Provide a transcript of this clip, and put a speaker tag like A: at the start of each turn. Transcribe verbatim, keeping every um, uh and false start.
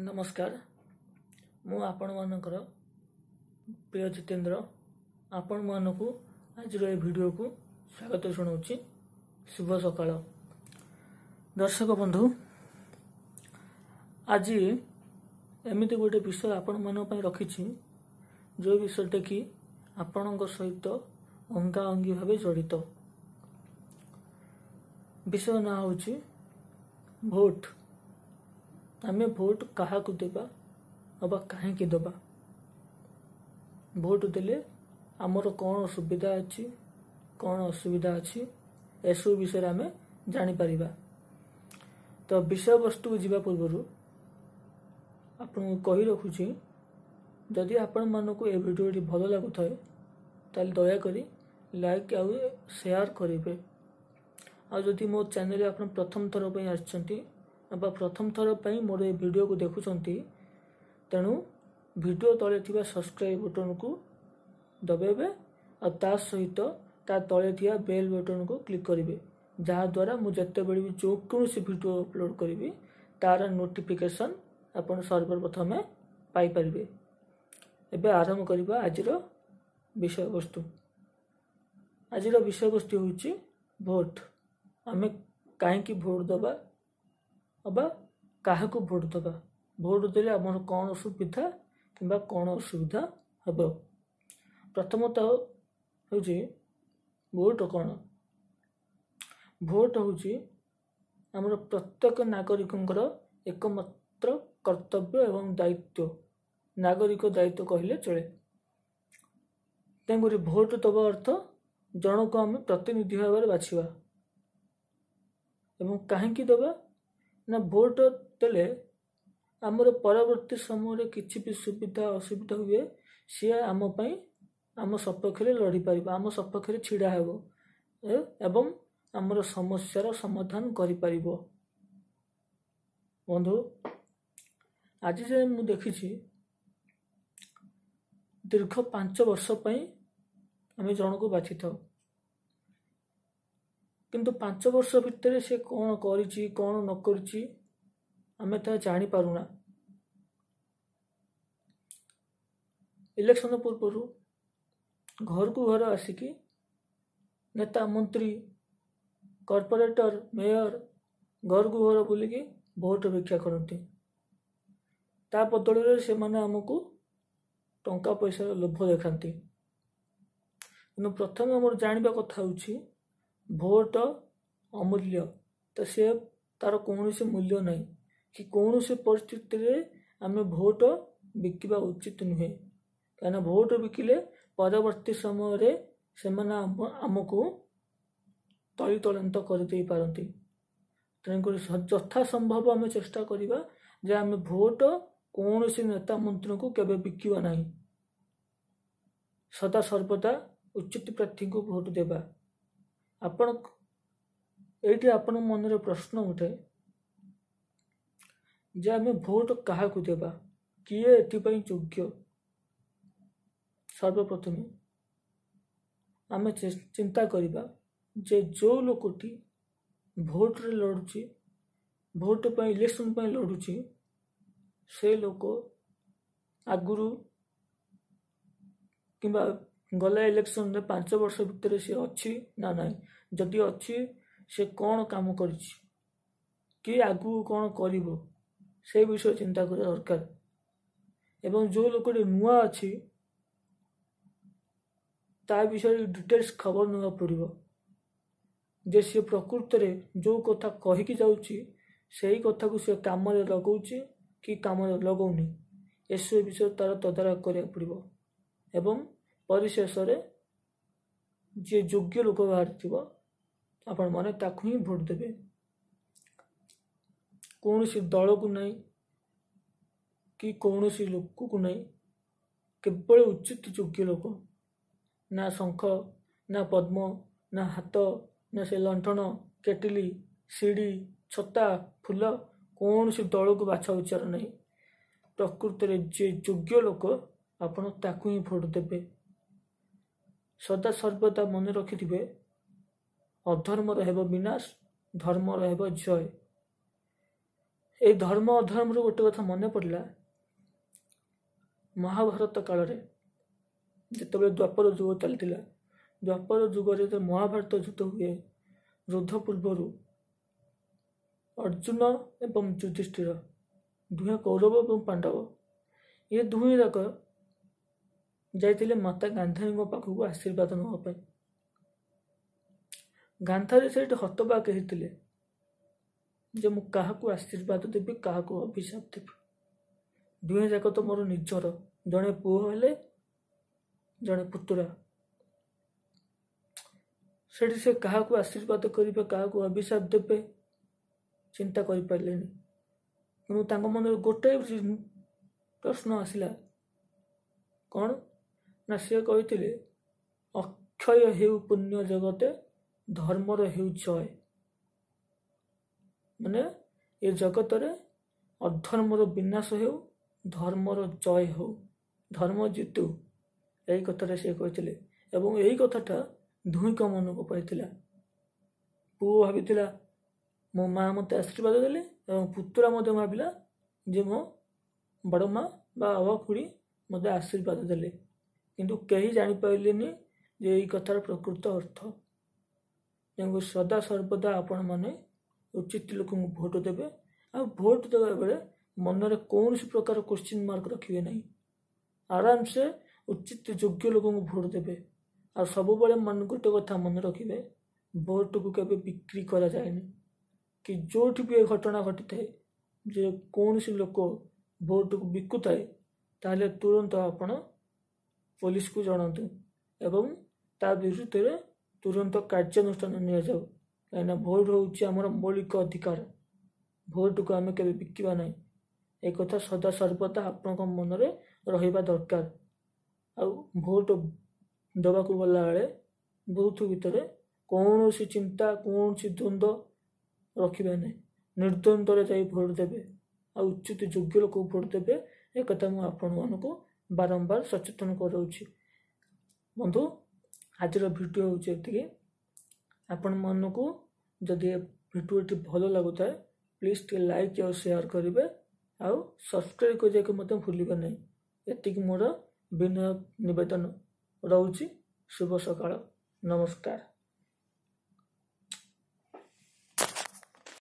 A: ନମସ୍କାର, ମୁଁ ଆପଣମାନଙ୍କର ପ୍ରିୟ ଜିତେନ୍ଦ୍ର ଆପଣମାନଙ୍କୁ ଆଜିର ଏ ଭିଡ଼ିଓକୁ ସ୍ୱାଗତ ଜଣାଉଛି। ଶୁଭ ସକାଳ ଦର୍ଶକ ବନ୍ଧୁ। ଆଜି ଏମିତି ଗୋଟେ ବିଷୟ ଆପଣମାନଙ୍କ ପାଇଁ ରଖିଛି, ଯେଉଁ ବିଷୟଟା କି ଆପଣଙ୍କ ସହିତ ଅଙ୍ଗାଅଙ୍ଗୀ ଭାବେ ଜଡ଼ିତ। ବିଷୟ ନାଁ ହେଉଛି ଭୋଟ। ଆମେ ଭୋଟ କାହାକୁ ଦେବା ଅବା କାହିଁକି ଦେବା, ଭୋଟ ଦେଲେ ଆମର କ'ଣ ସୁବିଧା ଅଛି, କ'ଣ ଅସୁବିଧା ଅଛି, ଏସବୁ ବିଷୟରେ ଆମେ ଜାଣିପାରିବା। ତ ବିଷୟବସ୍ତୁକୁ ଯିବା ପୂର୍ବରୁ ଆପଣଙ୍କୁ କହି ରଖୁଛି, ଯଦି ଆପଣମାନଙ୍କୁ ଏ ଭିଡ଼ିଓଟି ଭଲ ଲାଗୁଥାଏ ତାହେଲେ ଦୟାକରି ଲାଇକ୍ ଆଉ ସେୟାର କରିବେ। ଆଉ ଯଦି ମୋ ଚ୍ୟାନେଲରେ ଆପଣ ପ୍ରଥମ ଥର ପାଇଁ ଆସିଛନ୍ତି ବା ପ୍ରଥମ ଥର ପାଇଁ ମୋର ଏ ଭିଡ଼ିଓକୁ ଦେଖୁଛନ୍ତି, ତେଣୁ ଭିଡ଼ିଓ ତଳେ ଥିବା ସବସ୍କ୍ରାଇବ୍ ବଟନକୁ ଦବାଇବେ ଆଉ ତା ସହିତ ତା ତଳେ ଥିବା ବେଲ୍ ବଟନକୁ କ୍ଲିକ୍ କରିବେ, ଯାହାଦ୍ୱାରା ମୁଁ ଯେତେବେଳେ ବି ଯେକୌଣସି ଭିଡ଼ିଓ ଅପଲୋଡ଼ କରିବି ତାର ନୋଟିଫିକେସନ୍ ଆପଣ ସର୍ବପ୍ରଥମେ ପାଇପାରିବେ। ଏବେ ଆରମ୍ଭ କରିବା ଆଜିର ବିଷୟବସ୍ତୁ। ଆଜିର ବିଷୟବସ୍ତୁ ହେଉଛି ଭୋଟ। ଆମେ କାହିଁକି ଭୋଟ ଦେବା ଅବା କାହାକୁ ଭୋଟ ଦେବା, ଭୋଟ ଦେଲେ ଆମର କ'ଣ ସୁବିଧା କିମ୍ବା କ'ଣ ଅସୁବିଧା ହେବ। ପ୍ରଥମତଃ ହେଉଛି ଭୋଟ କ'ଣ। ଭୋଟ ହେଉଛି ଆମର ପ୍ରତ୍ୟେକ ନାଗରିକଙ୍କର ଏକମାତ୍ର କର୍ତ୍ତବ୍ୟ ଏବଂ ଦାୟିତ୍ୱ, ନାଗରିକ ଦାୟିତ୍ୱ କହିଲେ ଚଳେ। ତେଣୁକରି ଭୋଟ ଦେବା ଅର୍ଥ ଜଣକୁ ଆମେ ପ୍ରତିନିଧି ଭାବରେ ବାଛିବା। ଏବଂ କାହିଁକି ଦେବା ନା, ଭୋଟ ଦେଲେ ଆମର ପରବର୍ତ୍ତୀ ସମୟରେ କିଛି ବି ସୁବିଧା ଅସୁବିଧା ହୁଏ, ସିଏ ଆମ ପାଇଁ ଆମ ସପକ୍ଷରେ ଲଢ଼ିପାରିବ, ଆମ ସପକ୍ଷରେ ଛିଡ଼ା ହେବ ଏବଂ ଆମର ସମସ୍ୟାର ସମାଧାନ କରିପାରିବ। ବନ୍ଧୁ, ଆଜି ଯାଏଁ ମୁଁ ଦେଖିଛି ଦୀର୍ଘ ପାଞ୍ଚ ବର୍ଷ ପାଇଁ ଆମେ ଜଣକୁ ବାଛିଥାଉ, କିନ୍ତୁ ପାଞ୍ଚ ବର୍ଷ ଭିତରେ ସେ କ'ଣ କରିଛି କ'ଣ ନ କରିଛି ଆମେ ତାହା ଜାଣିପାରୁନା। ଇଲେକ୍ସନ ପୂର୍ବରୁ ଘରକୁ ଘର ଆସିକି ନେତା, ମନ୍ତ୍ରୀ, କର୍ପୋରେଟର, ମେୟର ଘରକୁ ଘର ବୁଲିକି ଭୋଟ ଭିକ୍ଷା କରନ୍ତି। ତା ବଦଳରେ ସେମାନେ ଆମକୁ ଟଙ୍କା ପଇସାର ଲୋଭ ଦେଖାନ୍ତି। କିନ୍ତୁ ପ୍ରଥମେ ଆମର ଜାଣିବା କଥା ହେଉଛି ଭୋଟ ଅମୂଲ୍ୟ, ତ ସେ ତାର କୌଣସି ମୂଲ୍ୟ ନାହିଁ କି କୌଣସି ପରିସ୍ଥିତିରେ ଆମେ ଭୋଟ ବିକିବା ଉଚିତ ନୁହେଁ। କାହିଁକିନା ଭୋଟ ବିକିଲେ ପରବର୍ତ୍ତୀ ସମୟରେ ସେମାନେ ଆମକୁ ତଳିତଳାନ୍ତ କରିଦେଇ ପାରନ୍ତି। ତେଣୁକରି ଯଥା ସମ୍ଭବ ଆମେ ଚେଷ୍ଟା କରିବା ଯେ ଆମେ ଭୋଟ କୌଣସି ନେତା ମନ୍ତ୍ରୀଙ୍କୁ କେବେ ବିକିବା ନାହିଁ, ସଦା ସର୍ବଦା ଉଚିତ ପ୍ରାର୍ଥୀଙ୍କୁ ଭୋଟ ଦେବା। ଆପଣ ଏଇଠି ଆପଣଙ୍କ ମନରେ ପ୍ରଶ୍ନ ଉଠେ ଯେ ଆମେ ଭୋଟ କାହାକୁ ଦେବା, କିଏ ଏଥିପାଇଁ ଯୋଗ୍ୟ? ସର୍ବପ୍ରଥମେ ଆମେ ଚିନ୍ତା କରିବା ଯେ ଯେଉଁ ଲୋକଟି ଭୋଟରେ ଲଢ଼ୁଛି, ଭୋଟ ପାଇଁ ଇଲେକ୍ସନ ପାଇଁ ଲଢ଼ୁଛି, ସେ ଲୋକ ଆଗରୁ କିମ୍ବା ଗଲା ଇଲେକ୍ସନରେ ପାଞ୍ଚ ବର୍ଷ ଭିତରେ ସେ ଅଛି ନା ନାହିଁ, ଯଦି ଅଛି ସେ କ'ଣ କାମ କରିଛି କି ଆଗକୁ କ'ଣ କରିବ, ସେ ବିଷୟ ଚିନ୍ତା କରିବା ଦରକାର। ଏବଂ ଯେଉଁ ଲୋକଟି ନୂଆ ଅଛି ତା ବିଷୟରେ ଡିଟେଲ୍ସ ଖବର ନେବାକୁ ପଡ଼ିବ ଯେ ସିଏ ପ୍ରକୃତରେ ଯେଉଁ କଥା କହିକି ଯାଉଛି ସେଇ କଥାକୁ ସେ କାମରେ ଲଗାଉଛି କି କାମରେ ଲଗାଉନି, ଏସବୁ ବିଷୟରେ ତାର ତଦାରଖ କରିବାକୁ ପଡ଼ିବ। ଏବଂ ପରିଶେଷରେ ଯିଏ ଯୋଗ୍ୟ ଲୋକ ବାହାରିଥିବ ଆପଣମାନେ ତାକୁ ହିଁ ଭୋଟ ଦେବେ। କୌଣସି ଦଳକୁ ନାହିଁ କି କୌଣସି ଲୋକକୁ ନାହିଁ, କେବଳ ଉଚିତ ଯୋଗ୍ୟ ଲୋକ। ନା ଶଙ୍ଖ, ନା ପଦ୍ମ, ନା ହାତ, ନା ସେ ଲଣ୍ଠନ, କେଟିଲି, ସିଡ଼ି, ଛତା, ଫୁଲ, କୌଣସି ଦଳକୁ ବାଛ ବିଚାର ନାହିଁ। ପ୍ରକୃତରେ ଯିଏ ଯୋଗ୍ୟ ଲୋକ ଆପଣ ତାକୁ ହିଁ ଭୋଟ ଦେବେ। ସଦା ସର୍ବଦା ମନେ ରଖିଥିବେ, ଅଧର୍ମର ହେବ ବିନାଶ, ଧର୍ମର ହେବ ଜୟ। ଏଇ ଧର୍ମ ଅଧର୍ମରୁ ଗୋଟେ କଥା ମନେ ପଡ଼ିଲା, ମହାଭାରତ କାଳରେ ଯେତେବେଳେ ଦ୍ୱାପର ଯୁଗ ଚାଲିଥିଲା, ଦ୍ୱାପର ଯୁଗରେ ଯେତେବେଳେ ମହାଭାରତ ଯୁଦ୍ଧ ହୁଏ, ଯୁଦ୍ଧ ପୂର୍ବରୁ ଅର୍ଜୁନ ଏବଂ ଯୁଧିଷ୍ଠିର ଦୁହେଁ କୌରବ ଏବଂ ପାଣ୍ଡବ, ଏ ଦୁହେଁ ଯାକ ଯାଇଥିଲେ ମାତା ଗାନ୍ଧାରୀଙ୍କ ପାଖକୁ ଆଶୀର୍ବାଦ ନେବା ପାଇଁ। ଗାନ୍ଧାରୀ ସେଇଠି ହତବାକ ହେଇଥିଲେ ଯେ ମୁଁ କାହାକୁ ଆଶୀର୍ବାଦ ଦେବି, କାହାକୁ ଅଭିଶାପ ଦେବି, ଦୁହେଁ ଯାକ ତ ମୋର ନିଜର, ଜଣେ ପୁଅ ହେଲେ ଜଣେ ପୁତୁରା। ସେଠି ସେ କାହାକୁ ଆଶୀର୍ବାଦ କରିବେ, କାହାକୁ ଅଭିଶାପ ଦେବେ ଚିନ୍ତା କରିପାରିଲେନି। କିନ୍ତୁ ତାଙ୍କ ମନରେ ଗୋଟାଏ ପ୍ରଶ୍ନ ଆସିଲା, କ'ଣ ନା ସେ କହିଥିଲେ, ଅକ୍ଷୟ ହେଉ ପୁଣ୍ୟ ଜଗତେ, ଧର୍ମର ହେଉ ଜୟ। ମାନେ ଏ ଜଗତରେ ଅଧର୍ମର ବିନାଶ ହେଉ, ଧର୍ମର ଜୟ ହେଉ, ଧର୍ମ ଜିତୁ, ଏଇ କଥାଟା ସେ କହିଥିଲେ। ଏବଂ ଏଇ କଥାଟା ଦୁହିଁଙ୍କ ମନକୁ ପାଇଥିଲା। ପୁଅ ଭାବିଥିଲା ମୋ ମା ମୋତେ ଆଶୀର୍ବାଦ ଦେଲେ, ଏବଂ ପୁତୁରା ମଧ୍ୟ ଭାବିଲା ଯେ ମୋ ବଡ଼ ମା ବା ଅବା ଖୁଡ଼ି ମୋତେ ଆଶୀର୍ବାଦ ଦେଲେ। କିନ୍ତୁ କେହି ଜାଣିପାରିଲେନି ଯେ ଏଇ କଥାର ପ୍ରକୃତ ଅର୍ଥ। ତେଣୁ ସଦା ସର୍ବଦା ଆପଣମାନେ ଉଚିତ ଲୋକଙ୍କୁ ଭୋଟ ଦେବେ, ଆଉ ଭୋଟ ଦେବା ବେଳେ ମନରେ କୌଣସି ପ୍ରକାର କୋଶ୍ଚିନ୍ ମାର୍କ ରଖିବେ ନାହିଁ। ଆରାମସେ ଉଚିତ ଯୋଗ୍ୟ ଲୋକଙ୍କୁ ଭୋଟ ଦେବେ। ଆଉ ସବୁବେଳେ ମନ ଗୋଟେ କଥା ମନେ ରଖିବେ, ଭୋଟକୁ କେବେ ବିକ୍ରି କରାଯାଏନି, କି ଯେଉଁଠି ବି ଏ ଘଟଣା ଘଟିଥାଏ ଯେ କୌଣସି ଲୋକ ଭୋଟକୁ ବିକୁଥାଏ, ତାହେଲେ ତୁରନ୍ତ ଆପଣ ପୋଲିସକୁ ଜଣାନ୍ତୁ ଏବଂ ତା ବିରୁଦ୍ଧରେ ତୁରନ୍ତ କାର୍ଯ୍ୟାନୁଷ୍ଠାନ ନିଆଯାଉ। କାହିଁକିନା ଭୋଟ ହେଉଛି ଆମର ମୌଳିକ ଅଧିକାର, ଭୋଟକୁ ଆମେ କେବେ ବିକିବା ନାହିଁ। ଏକଥା ସଦା ସର୍ବଦା ଆପଣଙ୍କ ମନରେ ରହିବା ଦରକାର। ଆଉ ଭୋଟ ଦେବାକୁ ଗଲାବେଳେ ବୁଥ ଭିତରେ କୌଣସି ଚିନ୍ତା, କୌଣସି ଦ୍ୱନ୍ଦ୍ୱ ରଖିବେ ନାହିଁ, ନିର୍ଦ୍ୱନ୍ଦ୍ୱରେ ଯାଇ ଭୋଟ ଦେବେ ଆଉ ଉଚିତ ଯୋଗ୍ୟ ଲୋକକୁ ଭୋଟ ଦେବେ। ଏକଥା ମୁଁ ଆପଣମାନଙ୍କୁ ବାରମ୍ବାର ସଚେତନ କରାଉଛି। ବନ୍ଧୁ, ଆଜିର ଭିଡ଼ିଓ ହେଉଛି ଏତିକି। ଆପଣମାନଙ୍କୁ ଯଦି ଏ ଭିଡ଼ିଓଟି ଭଲ ଲାଗୁଥାଏ, ପ୍ଲିଜ୍ ଟିକେ ଲାଇକ୍ ଆଉ ସେୟାର କରିବେ, ଆଉ ସବସ୍କ୍ରାଇବ୍ କରିବାକୁ ମଧ୍ୟ ଭୁଲିବେ ନାହିଁ। ଏତିକି ମୋର ବିନୟ ନିବେଦନ ରହୁଛି। ଶୁଭ ସକାଳ, ନମସ୍କାର।